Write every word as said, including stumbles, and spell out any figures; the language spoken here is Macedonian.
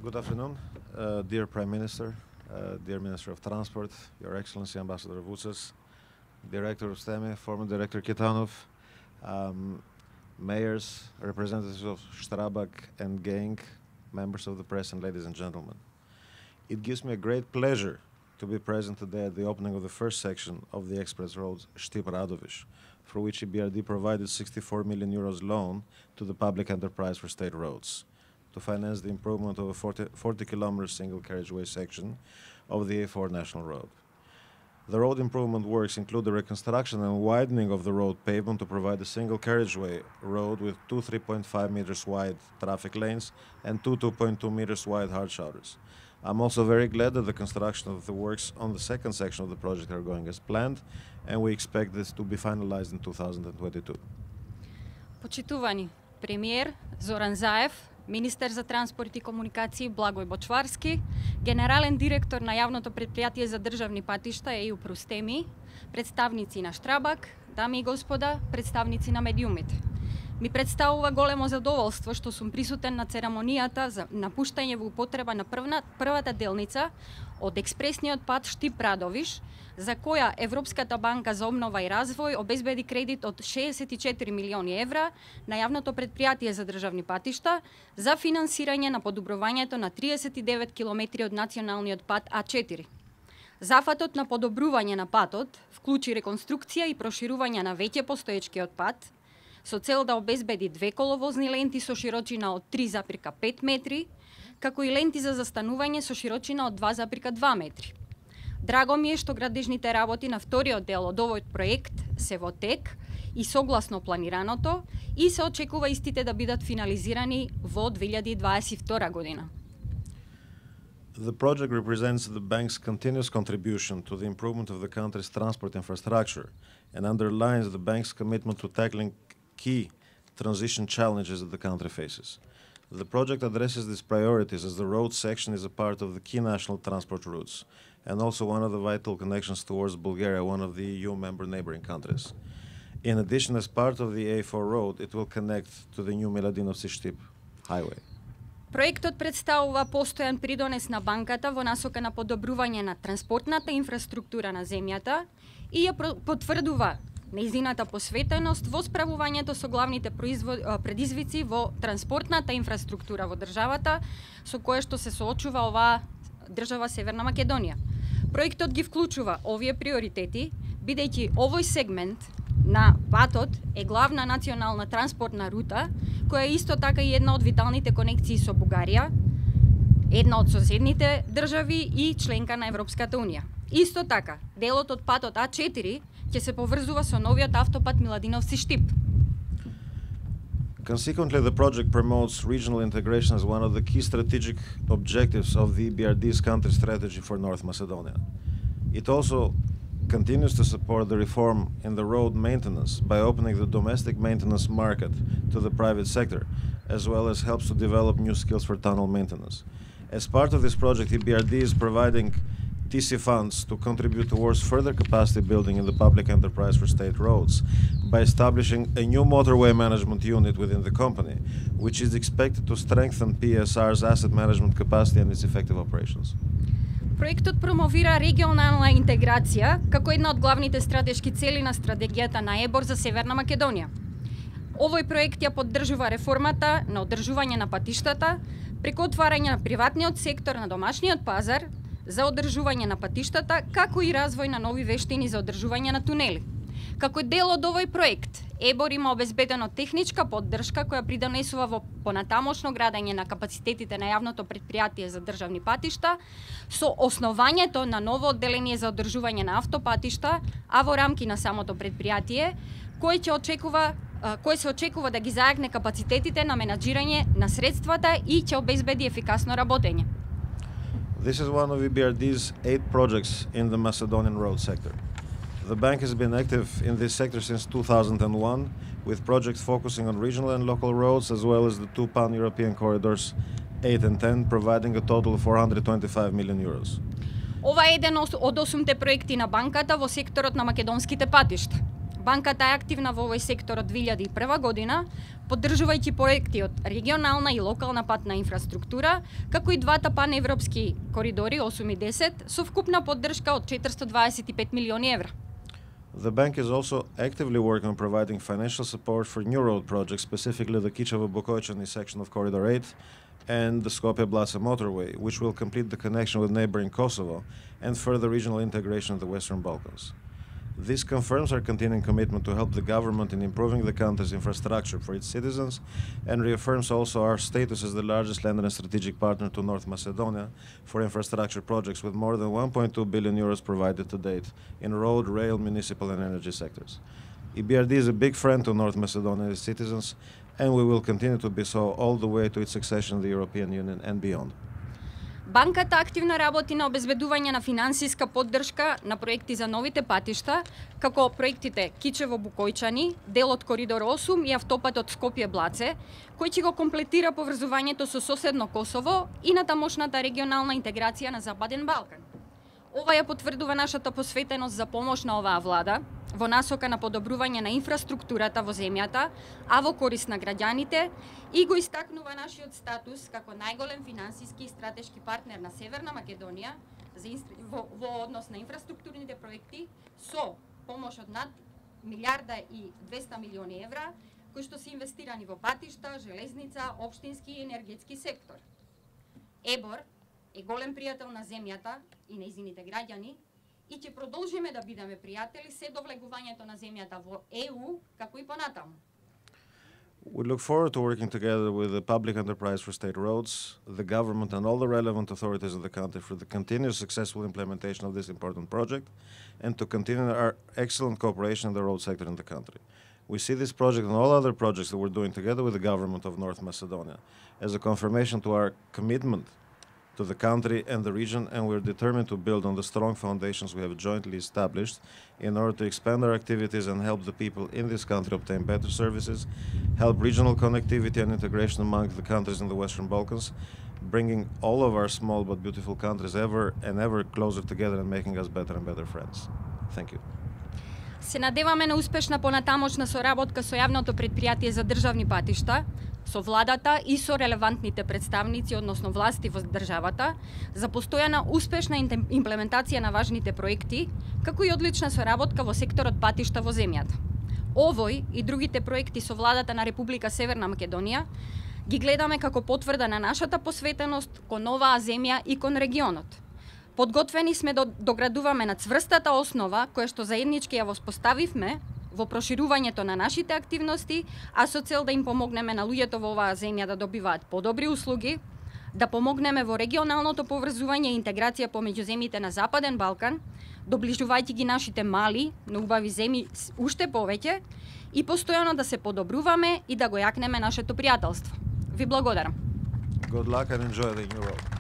Good afternoon, uh, dear Prime Minister, uh, dear Minister of Transport, Your Excellency Ambassador Vucas, Director of STEMI, former Director Kitanov, um, mayors, representatives of Strabag and Gang, members of the press, and ladies and gentlemen. It gives me a great pleasure to be present today at the opening of the first section of the express road Štip-Radoviš, for which E B R D provided sixty-four million euros loan to the public enterprise for state roads to finance the improvement of a forty, forty kilometer single carriageway section of the A four national road. The road improvement works include the reconstruction and widening of the road pavement to provide a single carriageway road with two three point five meters wide traffic lanes and two two point two meters wide hard shoulders. I'm also very glad that the construction of the works on the second section of the project are going as planned, and we expect this to be finalized in two thousand twenty-two. Почитувани премиер Зоран Заев, министер за транспорт и комуникации Благој Бочварски, генерален директор на јавното предпријатие за државни патишта ЕУ Простеми, представници на Штрабак, дами и господа, представници на медиумите. Ми представува големо задоволство што сум присутен на церемонијата за напуштање во употреба на првна, првата делница од експресниот пат Štip-Radoviš, за која Европската банка за обнова и развој обезбеди кредит од шеесет и четири милиони евра на јавното предпријатие за државни патишта за финансирање на подобрувањето на триесет и девет километри од националниот пат А четири. Зафатот на подобрување на патот вклучи реконструкција и проширување на веќе постоечкиот пат, со цел да обезбеди две коловозни ленти со широчина од три запирка пет метри, како и ленти за застанување со широчина од два запирка два метри. Драго ми е што градежните работи на вториот дел од овој проект се во тек и согласно планираното и се очекува истите да бидат финализирани во две илјади дваесет и втора година. The project represents the bank's continuous contribution to the improvement of the country's transport infrastructure and underlines the bank's commitment to tackling key transition challenges that the country faces. The project addresses these priorities as the road section is a part of the key national transport routes and also one of the vital connections towards Bulgaria, one of the E U member neighboring countries. In addition, as part of the A four road, it will connect to the new Miladinovci-Štip highway. Проектот представува постојан придонес на банката во насока на подобрување на транспортната инфраструктура на земјата и ја потврдува нејзината посветеност во справувањето со главните предизвици во транспортната инфраструктура во државата со кое што се соочува оваа држава Северна Македонија. Проектот ги вклучува овие приоритети, бидејќи овој сегмент на патот е главна национална транспортна рута, која е исто така и една од виталните конекции со Бугарија, една од соседните држави и членка на Европската унија. Исто така, делот од патот А четири ќе се поврзува со новиот автопат Миладиновци-Štip. Consequently, the project promotes regional integration as one of the key strategic objectives of the E B R D's country strategy for North Macedonia. It also continues to support the reform in the road maintenance by opening the domestic maintenance market to the private sector, as well as helps to develop new skills for tunnel maintenance. As part of this project, E B R D is providing T C funds to contribute towards further capacity building in the public enterprise for state roads by establishing a new motorway management unit within the company, which is expected to strengthen P S R's asset management capacity and its effective operations. Проектот промовира регионална интеграција како една од главните стратешки цели на стратегијата на ЕБОР за Северна Македонија. Овој проект ја поддржува реформата на одржување на патиштата преку отварање на приватниот сектор на домашниот пазар за одржување на патиштата, како и развој на нови вештини за одржување на тунели. Како дел од овој проект, ЕБОР има обезбедено техничка поддршка која придонесува во понатамошно градење на капацитетите на јавното предпријатие за државни патишта со основањето на ново одделение за одржување на автопатишта, а во рамки на самото предпријатие, кој ќе очекува кој се очекува да ги зајакне капацитетите на менаџирање на средствата и ќе обезбеди ефикасно работење. This is one of E B R D's eight projects in the Macedonian road sector. The bank has been active in this sector since two thousand one, with projects focusing on regional and local roads, as well as the two pan-European corridors, eight and ten, providing a total of four hundred twenty-five million euros. Ова е еден од осумте проекти на банката во секторот на македонските патишта. Банката е активна во овој сектор од две илјади и прва година, поддржувајќи проекти од регионална и локална патна инфраструктура, како и двата паневропски коридори осум и десет, со вкупна поддршка од четиристо дваесет и пет милиони евра. The bank is also actively working on providing financial support for new road projects, specifically the Kičevo-Bukovčani section of Corridor eight and the Skopje-Blace motorway, which will complete the connection with neighboring Kosovo and further regional integration of the Western Balkans. This confirms our continuing commitment to help the government in improving the country's infrastructure for its citizens and reaffirms also our status as the largest lender and strategic partner to North Macedonia for infrastructure projects, with more than one point two billion euros provided to date in road, rail, municipal and energy sectors. E B R D is a big friend to North Macedonia and its citizens, and we will continue to be so all the way to its accession to the European Union and beyond. Банката активно работи на обезбедување на финансиска поддршка на проекти за новите патишта, како проектите Кичево-Букојчани, дел од Коридор осум и автопатот Скопје-Блаце, кој ќе го комплетира поврзувањето со соседно Косово и на тамошната регионална интеграција на Западен Балкан. Ова ја потврдува нашата посветеност за помош на оваа влада во насока на подобрување на инфраструктурата во земјата, а во корист на граѓаните, и го истакнува нашиот статус како најголем финансиски и стратешки партнер на Северна Македонија за во, во однос на инфраструктурните проекти со помош од над милиарда и двесте милиони евра, кои што се инвестирани во патишта, железница, општински и енергетски сектор. ЕБОР е голем пријател на земјата и нејзините граѓани и ќе продолжиме да бидеме пријатели се до влегувањето на земјата во Е У, како и понатаму. We look forward to working together with the Public Enterprise for State Roads, the government and all the relevant authorities of the country for the continuous successful implementation of this important project and to continue our excellent cooperation in the road sector in the country. We see this project and all other projects that we're doing together with the government of North Macedonia as a confirmation to our commitment to the country and the region, and we're determined to build on the strong foundations we have jointly established in order to expand our activities and help the people in this country obtain better services, help regional connectivity and integration among the countries in the Western Balkans, bringing all of our small but beautiful countries ever and ever closer together and making us better and better friends. Thank you. Се надеваме на успешна понатамошна соработка со јавното претпријатие за државни патишта, со владата и со релевантните представници, односно власти во државата, за постојана успешна имплементација на важните проекти, како и одлична соработка во секторот патишта во земјата. Овој и другите проекти со владата на Република Северна Македонија ги гледаме како потврда на нашата посветеност кон оваа земја и кон регионот. Подготвени сме да доградуваме на цврстата основа која што заеднички ја воспоставивме во проширувањето на нашите активности, а со цел да им помогнеме на луѓето во оваа земја да добиваат подобри услуги, да помогнеме во регионалното поврзување и интеграција помеѓу земјите на Западен Балкан, доближувајќи ги нашите мали, но убави земји уште повеќе и постојано да се подобруваме и да го јакнеме нашето пријателство. Ви благодарам. Good luck and enjoy the new road.